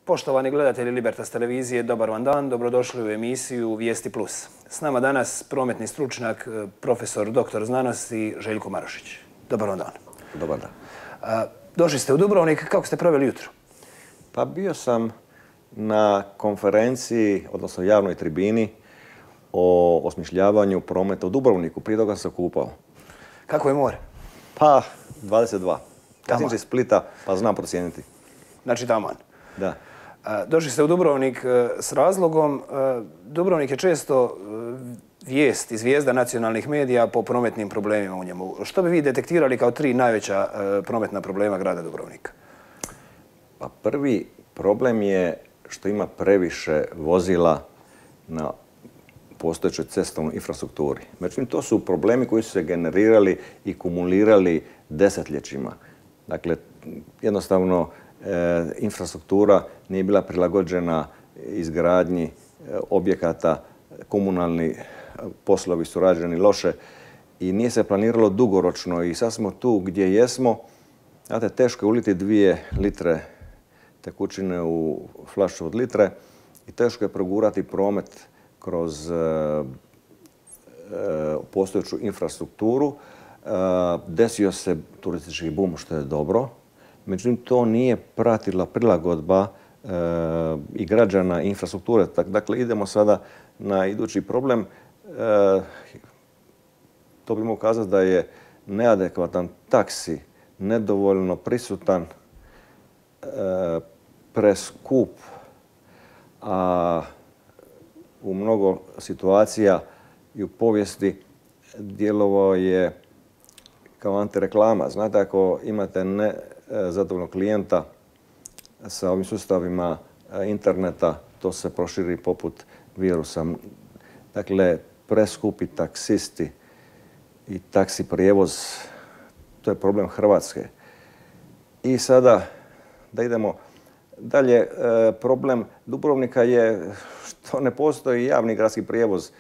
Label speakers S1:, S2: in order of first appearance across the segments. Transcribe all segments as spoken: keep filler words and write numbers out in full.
S1: Poštovani gledatelji Libertas televizije, dobar vam dan, dobrodošli u emisiju Vijesti plus. S nama danas prometni stručnjak, profesor doktor znanosti Željko Marošić. Dobar vam dan.
S2: Dobar dan.
S1: Došli ste u Dubrovnik, kako ste proveli jutro?
S2: Pa bio sam na konferenciji, odnosno javnoj tribini o osmišljavanju prometa u Dubrovniku. Prije toga sam se kupao.
S1: Kako je more?
S2: Pa, dvadeset dva. Ja sam iz Splita, pa znam procijeniti.
S1: Znači taman.
S2: Da.
S1: Došli ste u Dubrovnik s razlogom. Dubrovnik je često vijest i zvijezda nacionalnih medija po prometnim problemima u njemu. Što bi vi detektirali kao tri najveća prometna problema grada Dubrovnika?
S2: Pa prvi problem je što ima previše vozila na postojećoj cestovnoj infrastrukturi. Međutim, to su problemi koji su se generirali i kumulirali desetljećima. Dakle, jednostavno, E, infrastruktura nije bila prilagođena izgradnji e, objekata, komunalni poslovi su rađeni loše i nije se planiralo dugoročno i sad smo tu gdje jesmo. Znate, teško je uliti dvije litre tekućine u flašu od litre i teško je progurati promet kroz e, e, postojeću infrastrukturu. E, desio se turistički bum, što je dobro. Međutim, to nije pratila prilagodba e, i građana i infrastrukture. Dakle, idemo sada na idući problem. E, to bi mogu kazati da je neadekvatan taksi, nedovoljno prisutan, e, preskup, a u mnogo situacija i u povijesti djelovao je kao antireklama. Znate, ako imate ne zadovoljnog klijenta sa ovim sustavima interneta, to se proširi poput virusa. Dakle, preskupi taksisti i taksi prijevoz, to je problem Hrvatske. I sada, da idemo dalje, problem Dubrovnika je što ne postoji javni gradski prijevoz.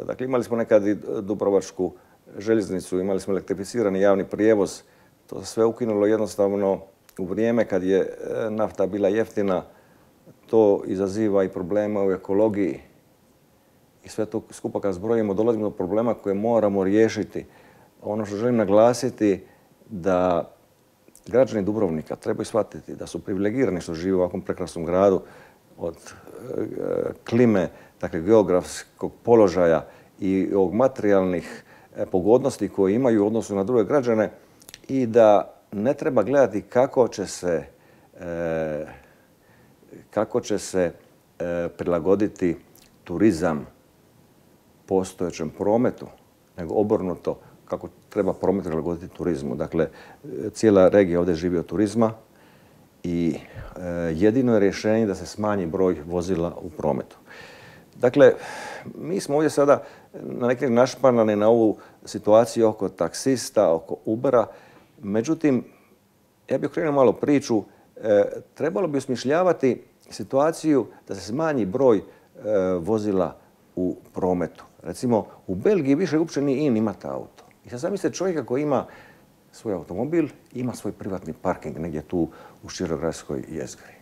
S2: Dakle, imali smo nekad i Dubrovačku željeznicu, imali smo elektrificirani javni prijevoz. To se sve ukinulo jednostavno u vrijeme kad je nafta bila jeftina. To izaziva i problema u ekologiji. I sve to skupa kad zbrojimo dolazimo do problema koje moramo riješiti. Ono što želim naglasiti da građani Dubrovnika trebaju shvatiti da su privilegirani što žive u ovakvom prekrasnom gradu od klime, dakle geografskog položaja i ovog materijalnih pogodnosti koje imaju u odnosu na druge građane. I da ne treba gledati kako će se, e, kako će se e, prilagoditi turizam postojećem prometu, nego obrnuto kako treba promet prilagoditi turizmu. Dakle, cijela regija ovdje živi od turizma i e, jedino je rješenje da se smanji broj vozila u prometu. Dakle, mi smo ovdje sada na neki način našpanani na ovu situaciju oko taksista, oko Ubera. Međutim, ja bih okrenuo malo priču, e, trebalo bi osmišljavati situaciju da se smanji broj e, vozila u prometu. Recimo, u Belgiji više uopće nije in imati auto. I sad zamislite čovjeka koji ima svoj automobil, ima svoj privatni parking negdje tu u širogradskoj jezgri.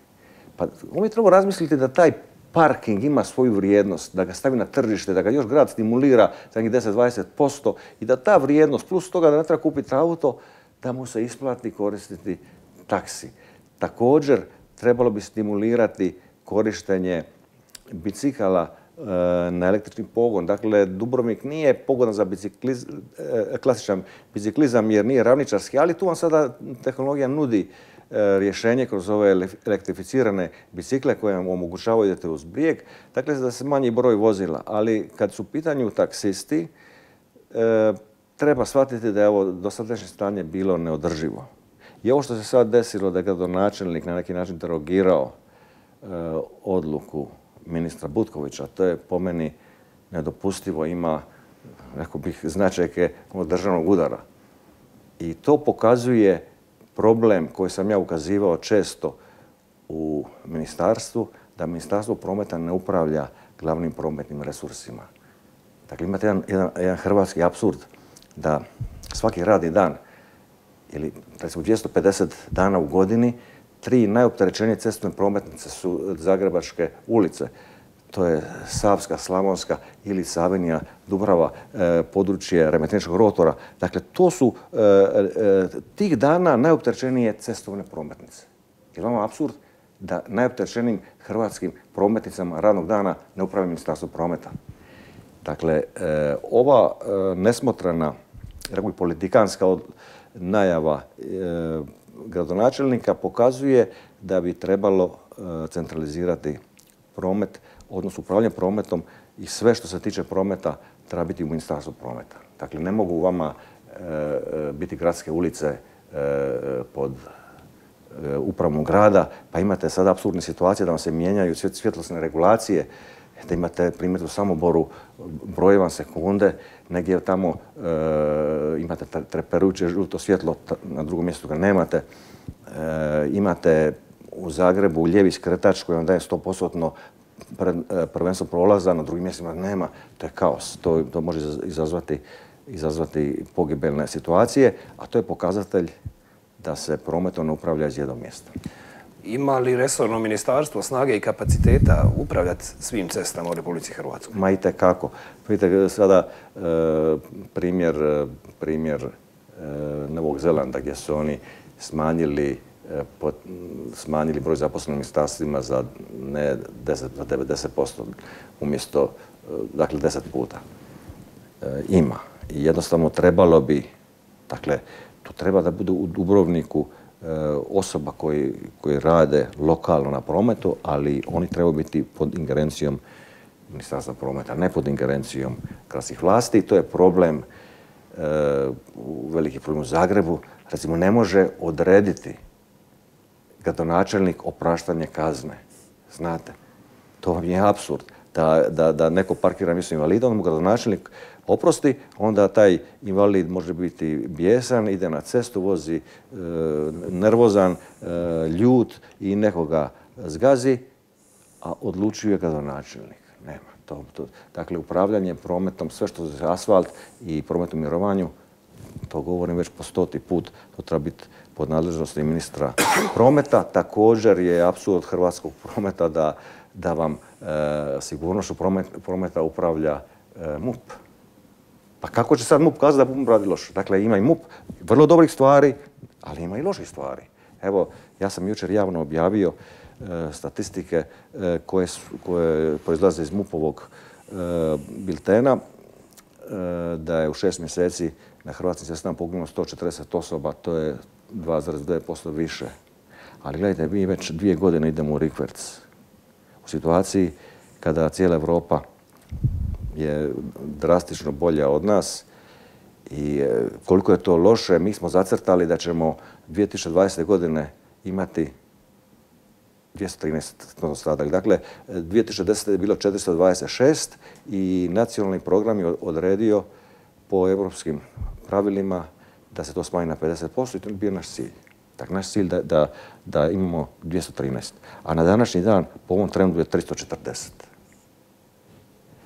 S2: Pa on bi trebao razmisliti da taj parking ima svoju vrijednost, da ga stavi na tržište, da ga još grad stimulira za njih deset do dvadeset posto i da ta vrijednost, plus toga da ne treba kupiti auto, da mu se isplati koristiti taksi. Također, trebalo bi stimulirati korištenje bicikala e, na električni pogon. Dakle, Dubrovnik nije pogodan za bicikliz, e, klasičan biciklizam jer nije ravničarski, ali tu vam sada tehnologija nudi e, rješenje kroz ove elektrificirane bicikle koje vam omogućavaju idete uz brijeg. Dakle, da se manji broj vozila. Ali kad su u pitanju taksisti, e, treba shvatiti da je ovo dosadašnje stanje bilo neodrživo. I ovo što se sad desilo da je gradonačelnik na neki način derogirao e, odluku ministra Butkovića, to je po meni nedopustivo, ima, rekao bih, značajke državnog udara. I to pokazuje problem koji sam ja ukazivao često u ministarstvu, da Ministarstvo prometa ne upravlja glavnim prometnim resursima. Dakle, imate jedan, jedan, jedan hrvatski apsurd da svaki radni dan ili recimo dvjesto pedeset dana u godini tri najopterećenije cestovne prometnice su zagrebačke ulice. To je Savska, Slavonska ili Savinija, Dubrava, e, područje Remetinečkog rotora. Dakle, to su e, e, tih dana najopterećenije cestovne prometnice. Je li vam apsurd da najopterećenijim hrvatskim prometnicama radnog dana ne upravlja Ministarstvo prometa? Dakle, e, ova e, nesmotrana, rekao bih, politikanska od, najava e, gradonačelnika pokazuje da bi trebalo e, centralizirati promet, odnosno upravljanje prometom i sve što se tiče prometa treba biti u Ministarstvu prometa. Dakle, ne mogu vama e, biti gradske ulice e, pod e, upravom grada, pa imate sada apsurdne situacije da vam se mijenjaju svjetlosne regulacije, da imate primjer u Samoboru, broje vam sekunde, negdje tamo e, imate treperujuće žuto svjetlo, na drugom mjestu ga nemate. E, imate u Zagrebu lijevi skretač koji vam daje sto posto prvenstvo prolaza, na drugim mjestima nema. To je kaos. To, to može izazvati, izazvati pogibeljne situacije, a to je pokazatelj da se prometom ne upravlja iz jednog mjesta.
S1: Ima li resorno ministarstvo snage i kapaciteta upravljati svim cestama u Republici Hrvatskoj?
S2: Ma i tekako. Vidite sada e, primjer, primjer e, Novog Zelanda gdje su oni smanjili Pod, smanjili broj zaposlenih ministarstvima za ne deset, za devedeset posto umjesto, dakle, deset puta. E, ima. I jednostavno trebalo bi, dakle, tu treba da bude u Dubrovniku e, osoba koji, koji rade lokalno na prometu, ali oni trebaju biti pod ingerencijom Ministarstva prometa, ne pod ingerencijom gradskih vlasti. I to je problem, e, veliki problem u Zagrebu. Recimo, ne može odrediti gradonačelnik opraštanje kazne. Znate, to vam je apsurd. Da, da, da neko parkira mjesto invalida, on mu gradonačelnik oprosti, onda taj invalid može biti bijesan, ide na cestu, vozi e, nervozan, e, ljut i nekoga zgazi, a odlučuje gradonačelnik. Nema. To, to. Dakle, upravljanje prometom, sve što je asfalt i prometom mirovanju, to govorim već po stoti put, to treba biti pod nadležnosti ministra prometa. Također je apsurd hrvatskog prometa da, da vam e, sigurnošću promet, prometa upravlja e, MUP. Pa kako će sad MUP kazati da MUP radi loše? Dakle, ima i MUP vrlo dobrih stvari, ali ima i loših stvari. Evo, ja sam jučer javno objavio e, statistike e, koje, su, koje proizlaze iz MUP-ovog e, biltena, e, da je u šest mjeseci na hrvatskim cestama poginulo sto četrdeset osoba, to je dva zarez devet posto više. Ali gledajte, mi već dvije godine idemo u rikverc. U situaciji kada cijela Evropa je drastično bolja od nas i koliko je to loše, mi smo zacrtali da ćemo dvije tisuće dvadesete. godine imati dvjesto trinaest stradalih. Dakle, dvije tisuće desete. je bilo četiristo dvadeset šest i nacionalni program je odredio po europskim pravilima da se to smanji na pedeset posto i to je bio naš cilj. Dakle, naš cilj da, da, da imamo dvjesto trinaest. A na današnji dan po ovom trendu je tristo četrdeset.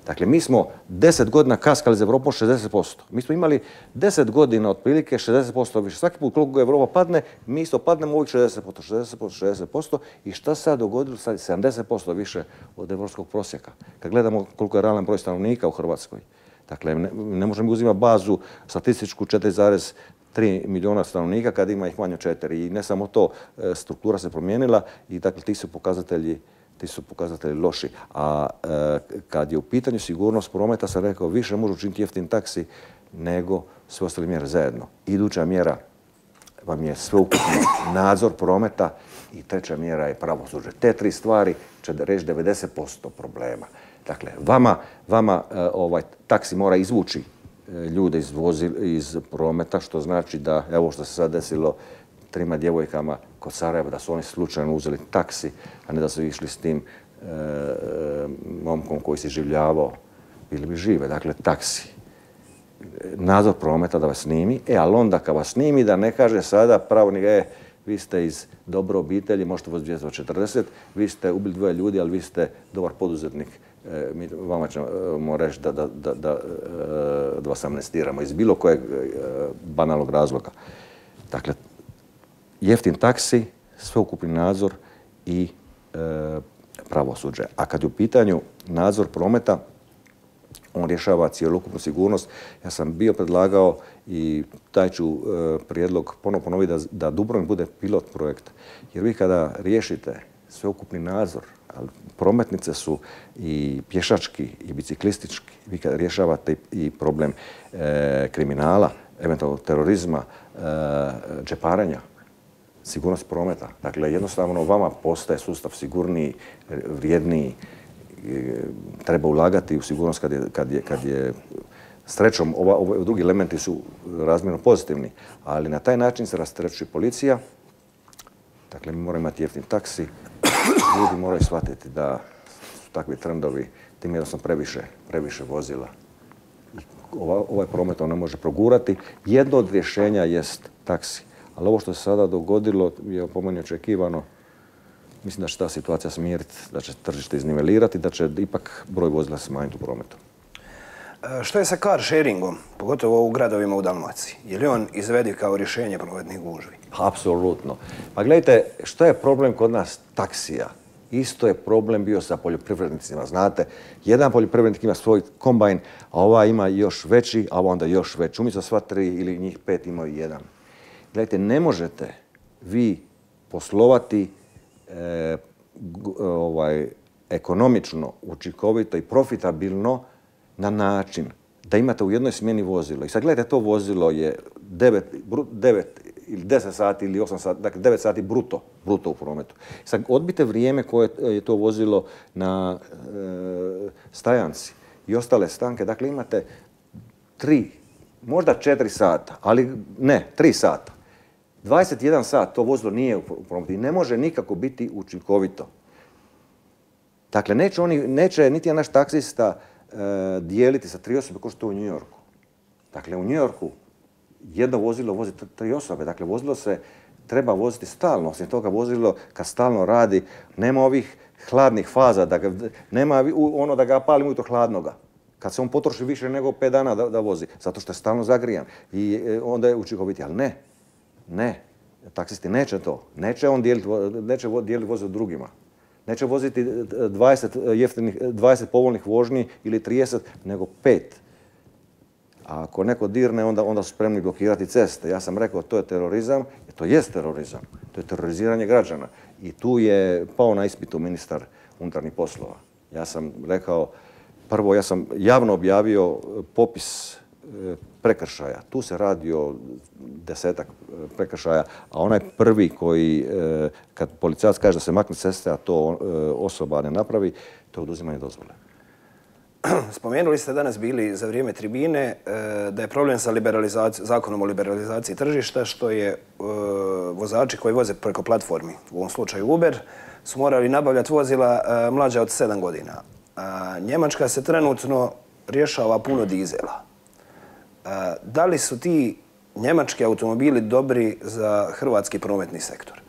S2: Dakle, mi smo deset godina kaskali za Evropom šezdeset posto. Mi smo imali deset godina otprilike šezdeset posto više. Svaki put koliko Evropa padne, mi isto padnemo ovih šezdeset posto, šezdeset posto, šezdeset posto. I šta sad dogodilo? Sad je sedamdeset posto više od evropskog prosjeka. Kad gledamo koliko je realan broj stanovnika u Hrvatskoj. Dakle, ne, ne možemo uzimati bazu statističku četiri zarez tri milijuna stanovnika kad ima ih manje od četiri. I ne samo to, struktura se promijenila i dakle ti su pokazatelji, ti su pokazatelji loši. A e, kad je u pitanju sigurnost prometa, sam rekao, više može učiniti jeftin taksi nego sve ostale mjere zajedno. Iduća mjera vam je sveukupni nadzor prometa i treća mjera je pravosuđe. Te tri stvari će reći devedeset posto problema. Dakle, vama, vama ovaj, taksi mora izvući ljude iz, vozil, iz prometa, što znači da, evo što se sad desilo trima djevojkama kod Sarajeva, da su oni slučajno uzeli taksi, a ne da su išli s tim e, momkom koji se življavao, bili bi žive. Dakle, taksi. Nadzor prometa da vas snimi, e, ali onda kad vas snimi da ne kaže sada pravilnik, e, vi ste iz dobre obitelji, možete voziti dvjesto četrdeset, vi ste ubili dvoje ljudi, ali vi ste dobar poduzetnik. E, mi vama ćemo reći da, da, da, da, da vas amnestiramo iz bilo kojeg e, banalnog razloga. Dakle, jeftin taksi sveukupni nadzor i e, pravosuđe. A kad je u pitanju nadzor prometa, on rješava cjelokupnu sigurnost. Ja sam bio predlagao i taj ću e, prijedlog ponovno ponoviti da, da Dubrovnik bude pilot projekt. Jer vi kada riješite sveukupni nadzor, ali prometnice su i pješački i biciklistički, vi kada rješavate i problem e, kriminala, eventualno terorizma, e, džeparenja, sigurnost prometa. Dakle, jednostavno vama postaje sustav sigurniji, vrijedniji, treba ulagati u sigurnost kad je, kad je, kad je srećom, ova, ova, drugi elementi su razmjerno pozitivni, ali na taj način se rasterećuje policija. Dakle, mi moramo imati jeftin taksi, ljudi moraju shvatiti da su takvi trendovi, tim jednostavno previše, previše vozila. Ova, ovaj promet on ne može progurati. Jedno od rješenja jest taksi. Ali ovo što se sada dogodilo je po meni očekivano. Mislim da će ta situacija smiriti, da će tržište iznivelirati, da će ipak broj vozila smanjiti u prometu.
S1: E, što je sa car sharingom, pogotovo u gradovima u Dalmaciji? Je li on izvediv kao rješenje prometnih gužvi?
S2: Apsolutno. Pa gledajte, što je problem kod nas taksija? Isto je problem bio sa poljoprivrednicima. Znate, jedan poljoprivrednik ima svoj kombajn, a ova ima još veći, a onda još veći. Umjesto sva tri ili njih pet imaju jedan. Gledajte, ne možete vi poslovati e, ovaj, ekonomično, učinkovito i profitabilno na način da imate u jednoj smjeni vozilo. I sad gledajte, to vozilo je devet ili deset sati ili osam sati, dakle devet sati bruto, bruto u prometu. Sad odbite vrijeme koje je to vozilo na e, stajanci i ostale stanke. Dakle, imate tri, možda četiri sata, ali ne, tri sata. dvadeset jedan sat to vozilo nije u prometu i ne može nikako biti učinkovito. Dakle, neće, oni, neće niti naš taksista e, dijeliti sa tri osobe kao što je u New Yorku. Dakle, u New Yorku jedno vozilo vozi tri osobe. Dakle, vozilo se treba voziti stalno. Osim toga, vozilo kad stalno radi, nema ovih hladnih faza, da ga, nema ono da ga palimo ujutro hladnoga. Kad se on potroši više nego pet dana da, da vozi, zato što je stalno zagrijan. I e, onda je učinkoviti, ali ne. Ne, taksisti neće to. Neće on dijeliti, neće dijeliti voziti drugima. Neće voziti dvadeset, jeftinih, dvadeset povoljnih vožnji ili trideset, nego pet. A ako neko dirne, onda, onda su spremni blokirati ceste. Ja sam rekao, to je terorizam, i to jest terorizam. To je teroriziranje građana. I tu je pao na ispitu ministar unutarnjih poslova. Ja sam rekao, prvo, ja sam javno objavio popis prekršaja. Tu se radi o desetak prekršaja, a onaj prvi koji, kad policajac kaže da se makne s ceste, a to osoba ne napravi, to je oduzimanje dozvole.
S1: Spomenuli ste danas bili za vrijeme tribine da je problem sa zakonom o liberalizaciji tržišta, što je vozači koji voze preko platformi, u ovom slučaju Uber, su morali nabavljati vozila mlađa od sedam godina. Njemačka se trenutno rješava puno dizela. Da li su ti njemački automobili dobri za hrvatski prometni sektor?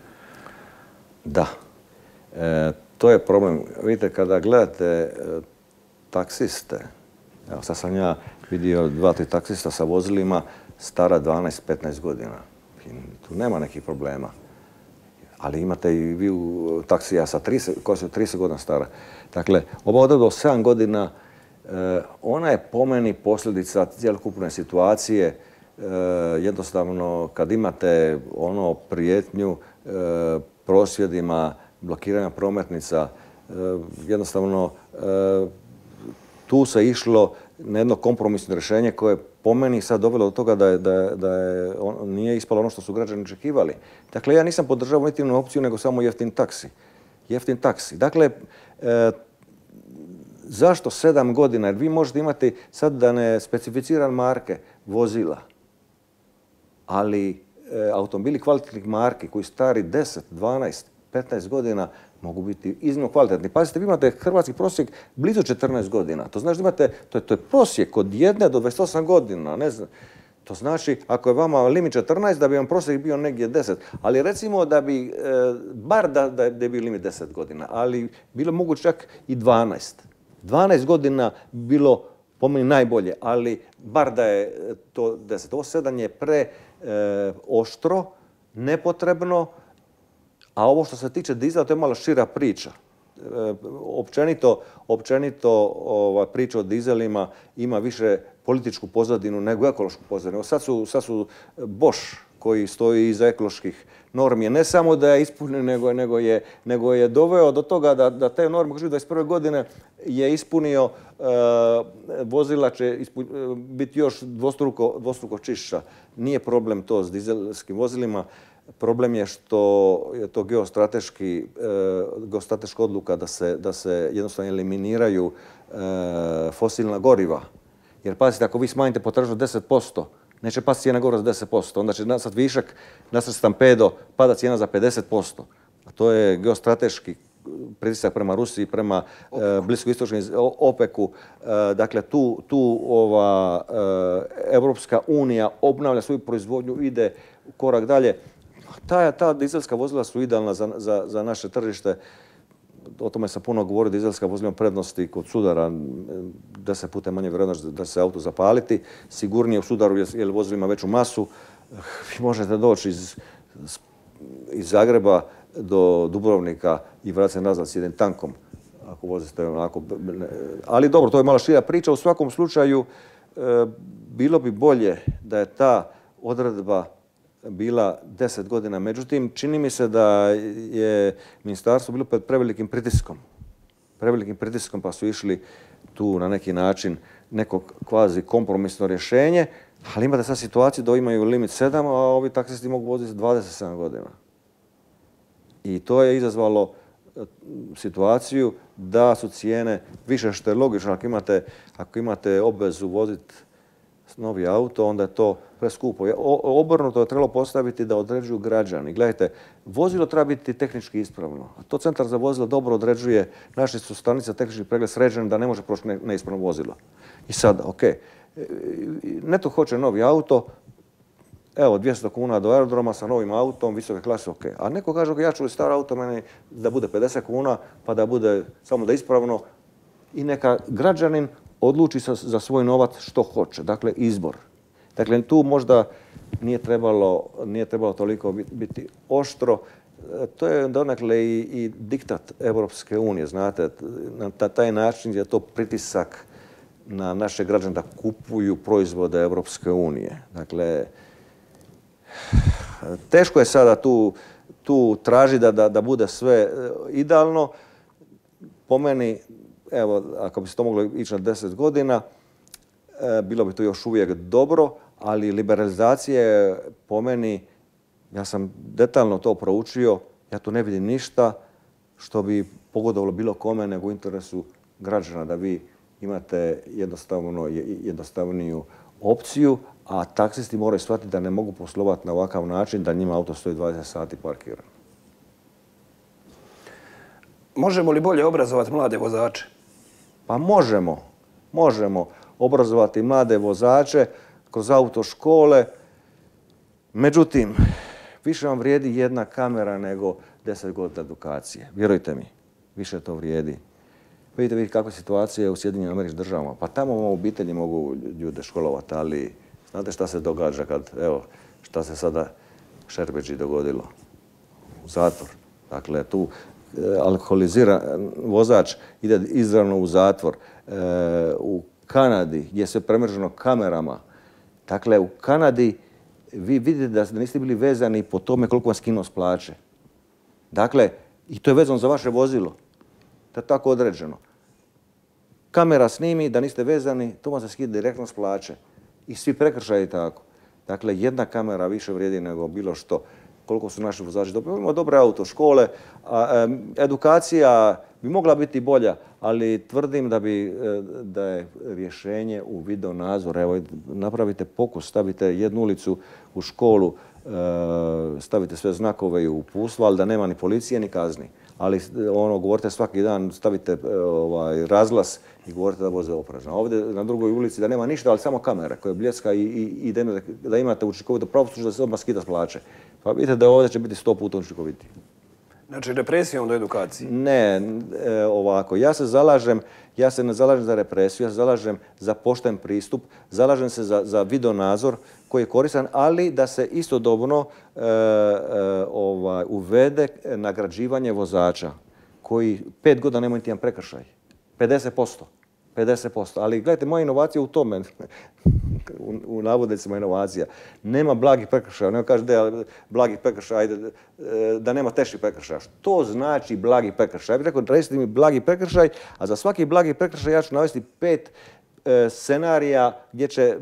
S2: Da. E, to je problem. Vidite, kada gledate e, taksiste, evo sad sam ja vidio dva, tri taksista sa vozilima stara dvanaest petnaest godina. I tu nema nekih problema. Ali imate i vi u taksija sa trideset, koja su trideset godina stara. Dakle, ova odredba od sedam godina, e, ona je po meni posljedica cjelokupne situacije. E, jednostavno, kad imate ono prijetnju e, prosvjedima, blokiranja prometnica, e, jednostavno e, tu se išlo na jedno kompromisno rješenje koje po meni sad dovelo do toga da, je, da, je, da je on, nije ispalo ono što su građani očekivali. Dakle, ja nisam podržavao niti jednu opciju, nego samo jeftin taksi. Jeftin taksi. Dakle, e, zašto sedam godina? Jer vi možete imati, sad da ne specificiram marke vozila, ali e, automobili kvalitetnih marki koji stari deset, dvanaest, petnaest godina mogu biti iznimno kvalitetni. Pazite, vi imate hrvatski prosjek blizu četrnaest godina. To znači da imate, to je, to je prosjek od jedne do dvadeset osam godina. Ne znam. To znači, ako je vama limit četrnaest, da bi vam prosjek bio negdje deset. Ali recimo da bi, e, bar da, da je bio limit deset godina, ali bilo moguće čak i dvanaest. dvanaest godina bilo po meni najbolje, ali bar da je to deset. Ovo sedam je pre e, oštro, nepotrebno, A ovo što se tiče dizela, to je malo šira priča. Općenito, općenito ova, priča o dizelima ima više političku pozadinu nego ekološku pozadinu. Sad su, sad su Bosch koji stoji iza ekoloških normi, ne samo da je ispunio, nego, nego, je, nego je doveo do toga da, da te norme koje dvadeset prve godine je ispunio, uh, vozila će ispun, uh, biti još dvostruko, dvostruko čišća. Nije problem to s dizelskim vozilima. Problem je što je to geostrateški, uh, geostrateška odluka da se, da se jednostavno eliminiraju uh, fosilna goriva. Jer pazite, ako vi smanjite potražnju deset posto, neće pasti cijena goriva za deset posto, onda će nastati višak, nastati stampedo, pada cijena za pedeset posto. A to je geostrateški pritisak prema Rusiji, prema e, bliskoistočnom OPEC-u. E, dakle, tu, tu ova e, Evropska unija obnavlja svoju proizvodnju, ide korak dalje. Ta, ta dizelska vozila su idealna za, za, za naše tržište. O tome sam puno govorio, dizelska vozila prednosti kod sudara, deset puta manje vjerojatnost da se auto zapaliti. Sigurnije u sudaru jer vozilo ima veću masu. Vi možete doći iz, iz Zagreba do Dubrovnika i vratiti se nazad s jednim tankom. Ako vozite onako. Ali dobro, to je malo šira priča. U svakom slučaju bilo bi bolje da je ta odredba bila deset godina. Međutim, čini mi se da je ministarstvo bilo pod prevelikim pritiskom. Prevelikim pritiskom pa su išli tu na neki način neko kvazi kompromisno rješenje, ali imate sad situaciju da imaju limit sedam, a ovi taksisti mogu voziti dvadeset sedam godina. I to je izazvalo situaciju da su cijene više, što je logično. Ako imate, ako imate obvezu voziti novi auto, onda je to preskupo. Obrnuto je trebalo postaviti da određuju građani. Gledajte, vozilo treba biti tehnički ispravno. A to Centar za vozilo dobro određuje. Naše su stanice tehnički pregled sređene da ne može proći neispravno vozilo. I sad, ok, netko hoće novi auto, evo dvjesto kuna do aerodroma sa novim autom, visoke klase, ok. A neko kaže, ok, ja ću li star auto meni da bude pedeset kuna, pa da bude samo da ispravno. I neka građanin odluči za svoj novac što hoće. Dakle, izbor. Dakle, tu možda nije trebalo, nije trebalo toliko biti oštro. To je donekle i, i diktat Evropske unije, znate. Na taj način je to pritisak na naše građane da kupuju proizvode Evropske unije. Dakle, teško je sada tu, tu traži da, da, da bude sve idealno. Po meni, evo, ako bi se to moglo ići na deset godina, e, bilo bi to još uvijek dobro, ali liberalizacija je po meni, ja sam detaljno to proučio, ja tu ne vidim ništa što bi pogodovalo bilo kome nego u interesu građana, da vi imate jednostavno, jednostavniju opciju, a taksisti moraju shvatiti da ne mogu poslovati na ovakav način, da njima auto stoji dvadeset sati parkiran.
S1: Možemo li bolje obrazovati mlade vozače?
S2: Pa možemo. Možemo obrazovati mlade vozače kroz autoškole. Međutim, više vam vrijedi jedna kamera nego deset godina edukacije. Vjerujte mi, više to vrijedi. Vidite, vidite kakva situacija je u Sjedinjenim Američkim Državama. Pa tamo u obitelji mogu ljude školovati, ali znate šta se događa kad, evo, šta se sada Šerbeđi dogodilo? U zatvor. Dakle, tu alkoholiziran vozač ide izravno u zatvor. E, u Kanadi, gdje je sve premrženo kamerama, dakle, u Kanadi vi vidite da niste bili vezani po tome koliko vam skinuo s plaće. Dakle, i to je vezano za vaše vozilo. To je tako određeno. Kamera snimi da niste vezani, to vam se skida direktno s plaće. I svi prekršaji tako. Dakle, jedna kamera više vrijedi nego bilo što. Koliko su naši vozači dobri. Imamo dobre autoškole. A, edukacija bi mogla biti bolja, ali tvrdim da, bi, da je rješenje u video nadzor. Evo, napravite pokus, stavite jednu ulicu u školu, stavite sve znakove i uputstva, ali da nema ni policije ni kazni. Ali ono, govorite svaki dan, stavite ovaj, razglas i govorite da voze oprezno. Ovdje na drugoj ulici da nema ništa, ali samo kamera koja bljeska i, i, i da, da imate učinkovito pravosuđe da se odmah skida s plaće. Pa vidite da ovdje će biti sto puta učinkovitiji.
S1: Znači represijom do edukacije?
S2: Ne, e, ovako. Ja se zalažem, ja se ne zalažem za represiju, ja se zalažem za pošten pristup, zalažem se za, za videonadzor koji je koristan, ali da se istodobno e, e, ovaj, uvede nagrađivanje vozača koji pet godina nemaju niti jedan prekršaj. pedeset posto. pedeset posto. Ali gledajte, moja inovacija u tome, u, u navodnicima inovacija, nema blagih prekršaja. Nema kaže da blagih prekršaja, ajde, da nema teških prekršaja. Što znači blagi prekršaj? Ja bih rekao, recite mi blagi prekršaj, a za svaki blagi prekršaj ja ću navesti pet e, scenarija gdje će e,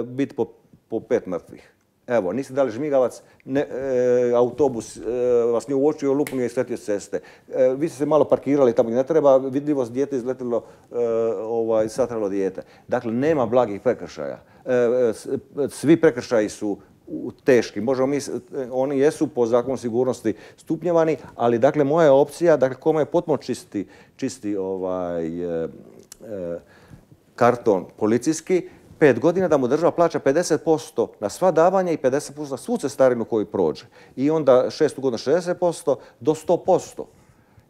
S2: biti po, po pet mrtvih. Evo, niste dali žmigavac, ne, e, autobus e, vas nije uočio, lupno je isletio s ceste. E, vi ste se malo parkirali tamo gdje ne treba, vidljivost dijete izletilo, e, ovaj, satralo dijete. Dakle, nema blagih prekršaja. E, svi prekršaji su teški. Možemo mi, oni jesu po zakonu sigurnosti stupnjevani, ali dakle, moja opcija, dakle, kome je potpuno čisti, čisti ovaj, e, e, karton policijski, pet godina da mu država plaća pedeset posto na sva davanja i pedeset posto na svu cestarinu koju prođe. I onda šest godina šezdeset posto do sto posto.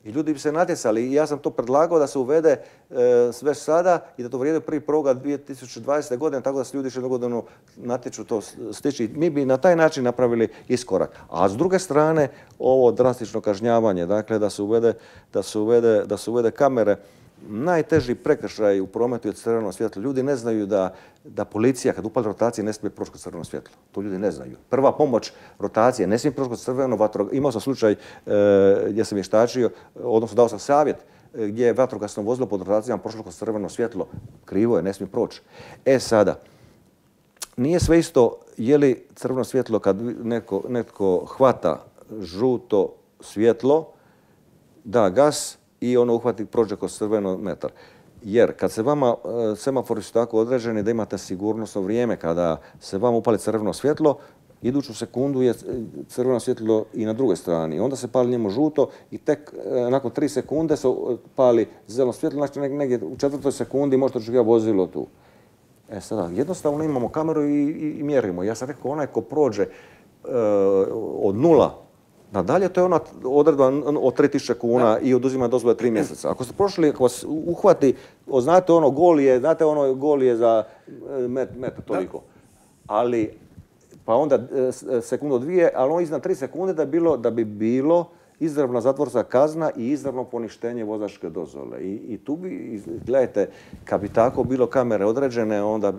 S2: I ljudi bi se natjecali i ja sam to predlagao da se uvede e, sve sada i da to vrijede prvi prvog dvije tisuće dvadesete. godine, tako da se ljudi još jednu godinu natječu to stići. Mi bi na taj način napravili iskorak. A s druge strane, ovo drastično kažnjavanje, dakle da se uvede, da se uvede, da se uvede kamere, najteži prekršaj u prometu je crveno svjetlo. Ljudi ne znaju da, da policija kad upali rotacije ne smije proći kroz crveno svjetlo. To ljudi ne znaju. Prva pomoć rotacije ne smije proći kroz crveno vatro. Imao sam slučaj e, gdje sam vještačio, odnosno dao sam savjet e, gdje je vatrogasno vozilo pod rotacijama prošlo kroz crveno svjetlo. Krivo je, ne smije proći. E sada, nije sve isto je li crveno svjetlo kad netko, netko hvata žuto svjetlo, da gas, i ono uhvati, prođe kroz crveno metar. Jer kad se vama, semafori su tako određeni da imate sigurnosno vrijeme, kada se vama upali crveno svjetlo, iduću sekundu je crveno svjetlo i na drugoj strani. Onda se pali njemu žuto i tek nakon tri sekunde se pali zeleno svjetlo, znači negdje u četvrtoj sekundi možete očekivati vozilo tu. E sada, jednostavno imamo kameru i, i, i mjerimo. Ja sam rekao, onaj ko prođe e, od nula nadalje, to je ona odredba od tri tisuće kuna i oduzima dozvole tri mjeseca. Ako ste prošli, ako vas uhvati, znate ono gol je, znate ono gol je za met, met toliko. Ali, pa onda sekundu dvije, ali on iznad tri sekunde da, bilo, da bi bilo izravna zatvorska kazna i izravno poništenje vozačke dozvole. I, i tu bi, gledajte, kad bi tako bilo kamere određene, onda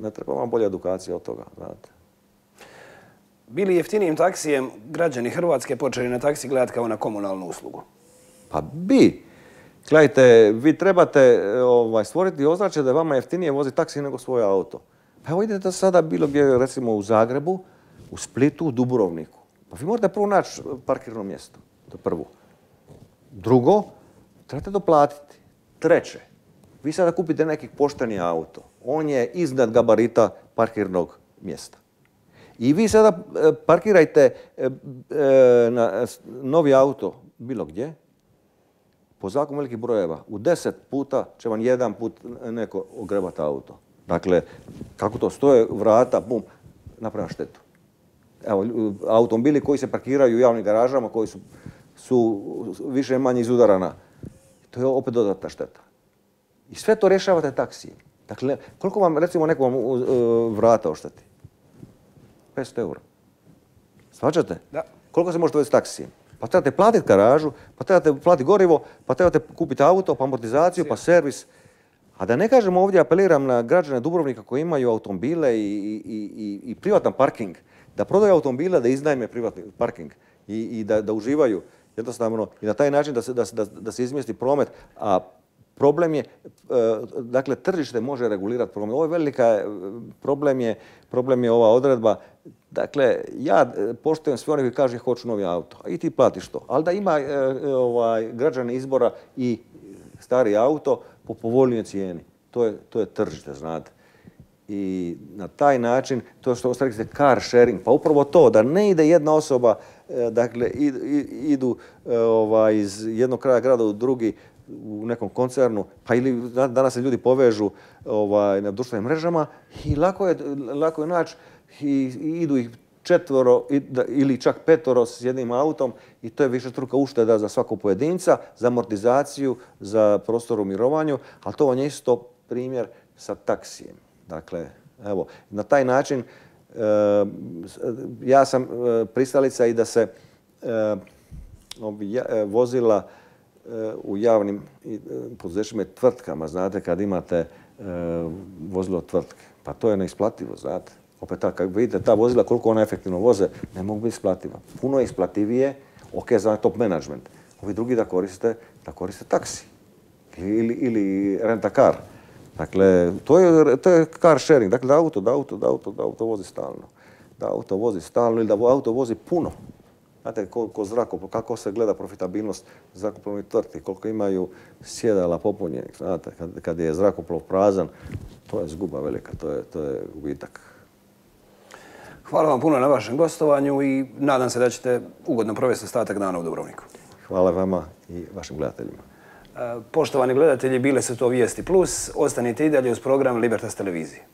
S2: ne treba vam bolja edukacija od toga, znate.
S1: Bili jeftinijim taksijem građani Hrvatske počeli na taksi gledati kao na komunalnu uslugu?
S2: Pa bi. Gledajte, vi trebate ovaj, stvoriti ozračje da je vama jeftinije voziti taksi nego svoj auto. Pa evo idete sada bilo gdje, recimo u Zagrebu, u Splitu, u Dubrovniku. Pa vi morate prvo naći parkirno mjesto. To je prvo. Drugo, trebate doplatiti. Treće, vi sada kupite neki pošteni auto. On je iznad gabarita parkirnog mjesta. I vi sada parkirajte na novi auto bilo gdje, po zakonu velikih brojeva. U deset puta će vam jedan put neko ogrebati auto. Dakle, kako to stoje, vrata, bum, napravim štetu. Evo, automobili koji se parkiraju u javnim garažama, koji su, su više manje izudarana, to je opet dodatna šteta. I sve to rješavate taksijem. Dakle, koliko vam, recimo, neko vam vrata ošteti? petsto eura. Svađate?
S1: Da.
S2: Koliko se možete uvesti taksijem? Pa trebate platiti garažu, pa trebate platiti gorivo, pa trebate kupiti auto, pa amortizaciju, pa servis. A da ne kažem ovdje, apeliram na građane Dubrovnika koji imaju automobile i, i, i, i privatan parking, da prodaju automobile, da iznajme privatni parking i, i da, da uživaju jednostavno i na taj način da se, da, da, da se izmjesti promet. A problem je, dakle, tržište može regulirati promet. Ovo je velika, problem je, problem je ova odredba. Dakle, ja poštujem sve one koji kažu hoću novi auto, a i ti platiš to. Ali da ima ovaj, građani izbora i stari auto po povoljnijoj cijeni. To je, to je tržište, znate. I na taj način, to što ste rekli, car sharing, pa upravo to, da ne ide jedna osoba, dakle, idu ovaj, iz jednog kraja grada u drugi, u nekom koncernu, pa ili danas se ljudi povežu ovaj, na društvenim mrežama i lako je, lako je naći i, i idu ih četvoro ili čak petoro s jednim autom i to je višestruka ušteda za svakog pojedinca, za amortizaciju, za prostor u mirovanju, ali to vam je isto primjer sa taksijem. Dakle, evo, na taj način ja sam pristalica i da se vozila u javnim poduzećima i tvrtkama, znate, kad imate vozilo tvrtke, pa to je neisplativo, znate. Opet tako, kad vidite ta vozila koliko ona efektivno voze, ne mogu biti isplativa. Puno je isplativije, ok, za top management. Ovi drugi da koriste, da koriste taksi ili, ili renta car. Dakle, to je, to je car sharing. Dakle, da auto, da auto, da auto, da auto vozi stalno. Da auto vozi stalno ili da auto vozi puno. Znate, koliko zrakoplov, kako se gleda profitabilnost zrakoplovnih tvrtki, koliko imaju sjedala popunjenih. Znate, kad, kad je zrakoplov prazan, to je zguba velika, to je, to je gubitak.
S1: Hvala vam puno na vašem gostovanju i nadam se da ćete ugodno provesti ostatak dana u Dubrovniku.
S2: Hvala vama i vašim gledateljima.
S1: Poštovani gledatelji, bile su to Vijesti Plus. Ostanite i dalje uz program Libertas televizije.